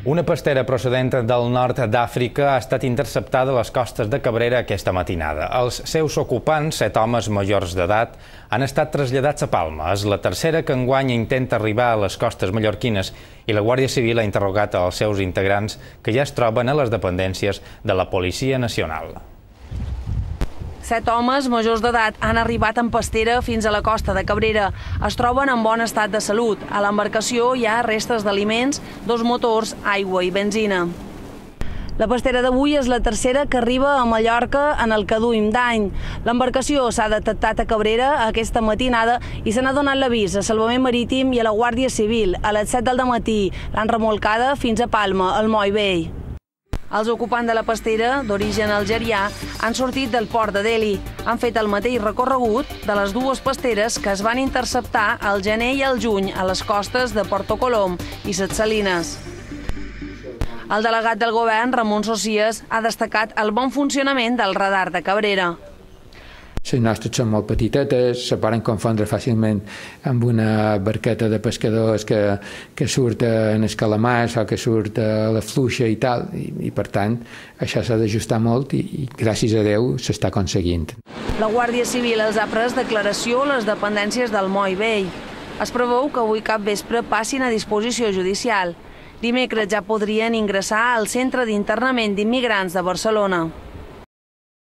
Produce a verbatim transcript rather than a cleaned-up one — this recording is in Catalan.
Una pastera procedent del nord d'Àfrica ha estat interceptada a les costes de Cabrera aquesta matinada. Els seus ocupants, set homes majors d'edat, han estat traslladats a Palma. És la tercera que enguany intenta arribar a les costes mallorquines i la Guàrdia Civil ha interrogat als seus integrants que ja es troben a les dependències de la Policia Nacional. Set homes majors d'edat han arribat en pastera fins a la costa de Cabrera. Es troben en bon estat de salut. A l'embarcació hi ha restes d'aliments, dos motors, aigua i benzina. La pastera d'avui és la tercera que arriba a Mallorca en el que duim d'any. L'embarcació s'ha detectat a Cabrera aquesta matinada i se n'ha donat l'avís a Salvament Marítim i a la Guàrdia Civil. A les set del dematí l'han remolcada fins a Palma, al Moll Vell. Els ocupants de la pastera, d'origen algerià, han sortit del port de Delhi. Han fet el mateix recorregut de les dues pasteres que es van interceptar al gener i al juny a les costes de Porto Colom i Ses Salines. El delegat del govern, Ramon Socias, ha destacat el bon funcionament del radar de Cabrera. Les nostres són molt petitetes, se poden confondre fàcilment amb una barqueta de pescadors que, que surt en els calamars o que surt a la fluixa i tal, i, i per tant això s'ha d'ajustar molt i, i gràcies a Déu s'està aconseguint. La Guàrdia Civil els ha pres declaració a les dependències del Moll Vell. Es preveu que avui cap vespre passin a disposició judicial. Dimecres ja podrien ingressar al Centre d'Internament d'Immigrants de Barcelona.